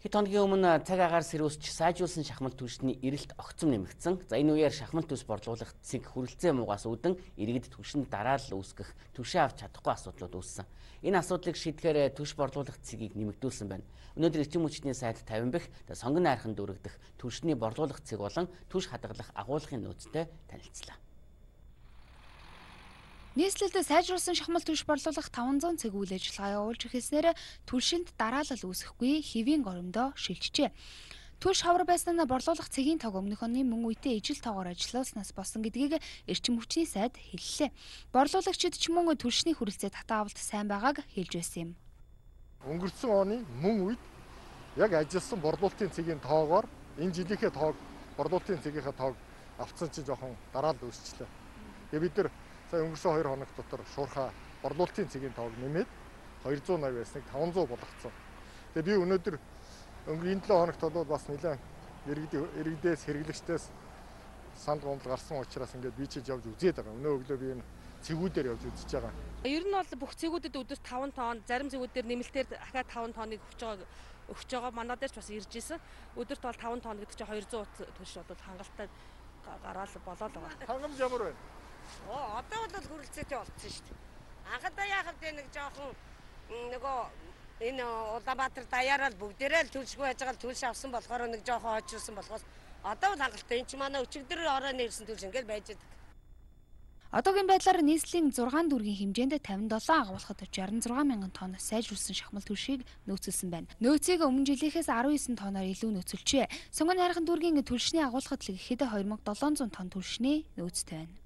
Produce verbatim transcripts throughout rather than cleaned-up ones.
Хэд хоногийн өмнө цаг агаар сэрүүсч сайжруулсан шахмал түвшний эрэлт огцом нэмэгдсэн. За энэ үеэр шахмал түвш борлуулах цэг хүрэлцээ муугаас үүдэн иргэд түвшинд дараалал үүсгэх, түвшээ авч чадахгүй асуудлууд үүссэн. Энэ асуудлыг шийдэхээр түвш борлуулах цэгийг нэмэгдүүлсэн байна. Өнөөдөр эрчим хүчний сайд тавин бэх сонгон найрхан дүүрэгдэх түвшний борлуулах цэг болон түвш хадгалах агуулгын нөөцтэй танилцлаа. Нийслэлд сайжруулсан шахмал түвш борлуулах таван зуун цэг үйл ажиллагаа явуулж эхэлснээр түвшинд дараалал үүсэхгүй хэвийн горимдоо шилжжээ. Түвш хавар байснаа борлуулах цэгийн тог өмнөх оны мөн үедээ ижил тоогоор ажилласнаас болсон гэдгийг эрчим хүчний сайд хэллээ. Борлуулагчид ч мөн түвшний хүрэлцээ татаа авалт сайн байгааг хэлж байсан юм. Өнгөрсөн оны мөн үед яг ажилласан борлуулалтын цэгийн тоогоор энэ жилийнхээ тоог борлуулалтын цэгийнхээ тоог авцсан чинь жоохон дараалал үүсчлээ. Тэгээ бид нар өнгөрсөн хоёр хоног дотор шуурхаа борлуулалтын цэгийн тоог нэмээд хоёр зуун новь байсныг таван зуун болгоцсон. Тэгээ би өнөөдөр өнгөрсөн энэ долоо хоногт бол бас нэлээд иргэдээс хэрэглэгчдээс санд гомдол гарсан учраас ингээд би чиж явж үзээд байгаа. Өнөө өглөө би энэ цэгүүдээр явж үзэж байгаа. Ер нь бол бүх цэгүүдэд өдөрт таван тонн, зарим цэгүүдээр нэмэлтээр дахиад таван тонныг өгч байгаа өгч байгаа. Манай дээр ч бас ирж исэн. Өдөрт бол таван тонн гэдэг чинь хоёр зуун түвш бол хангалттай гараал болоод байгаа. Хангамж ямар байна? Оо одоо бол хүрэлцээтэй болчихсон шүү дээ. Анхадаа яхав дээ нэг жоохон нөгөө энэ Улаанбаатар даяараа бүгдээрээ л түлшгүй байж байгаа түлш авсан болохоор нэг жоохон хойчилсан болохоос одоо бол хангалттай. Энд чи манай өчигдөр оройн ирсэн түлш ингээл байж байгаа. Одоогийн байдлаар нийслэлийн зургаан дүүргийн хэмжээнд тавин долоо агуулгад шестьдесят шесть мянган тонн сайжруулсан шахмал түвшийг нөөцөлсөн байна. Нөөцийг өмнө жилийнхээс арван девять тонноор илүү нөөцөлжээ. Сонгон найрхан дүүргийн түвшний агуулгад л гэхэд хоёр мың долоон зуун тонн түвшний нөөцтэй байна.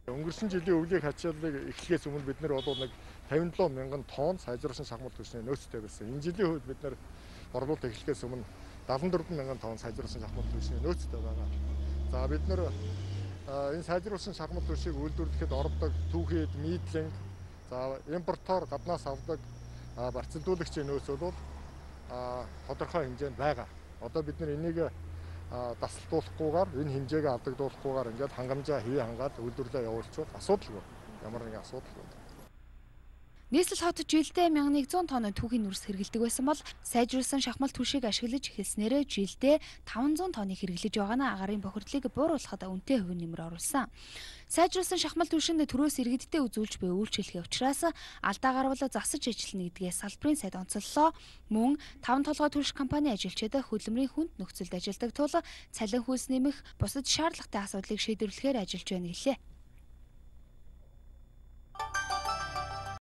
Өнгөрсөн жилийн өвлийн хачааллыг эхлэхээс өмнө бид нар бол нэг тавин долоо мянган тонн сайжруулсан шахмал түвшний нөөцтэй байсан. Энэ жилийн үед бид нар борлуулалт эхлэхээс өмнө дадлан дөрвөн мянган тонн сайжруулсан шахмал түвшний нөөцтэй байгаа. За бид нар энэ сайжруулсан шахмал түвшийг үйлдвэрлэхэд ордог түүхийд нийтлэн за импортоор гаднаас авдаг барцалдуулагчийн нөөц бол тодорхой хэмжээнд байгаа. Одоо бид нар энийг дасалтуулахгүйгээр энэ хэмжээгээ алдагдуулахгүйгээр ингээд хангамжаа хий хангаад үйлдвэрлэлээ явуулчихвал асуудалгүй. Ямар нэгэн асуудалгүй. Нийслэл хот жилдээ мянган нэгэн зуун тонн түүхийн нүрс хэрэглэдэг байсан бол сайжруулсан шахмал түвшийг ашиглаж эхэлснээр жилдээ таван зуун тонныг хэрэглэж байгаа нь агарын бохирдлыг бууруулахад үнэтэй хувийн нэмэр оруулсан. Сайжруулсан шахмал түвшинд төрөөс иргэдтэй үзүүлж буй үйлчлэхээ учраас алдаа гарвал засаж ажиллана гэдгээс салбарын сайд онцоллоо. Мөн таван толгой түвш компани ажилчид хөдөлмөрийн хүнд нөхцөлд ажилладаг тул цалин хүйс нэмэх бусад шаардлагатай асуудлыг шийдвэрлэхээр ажиллаж байна гэлээ.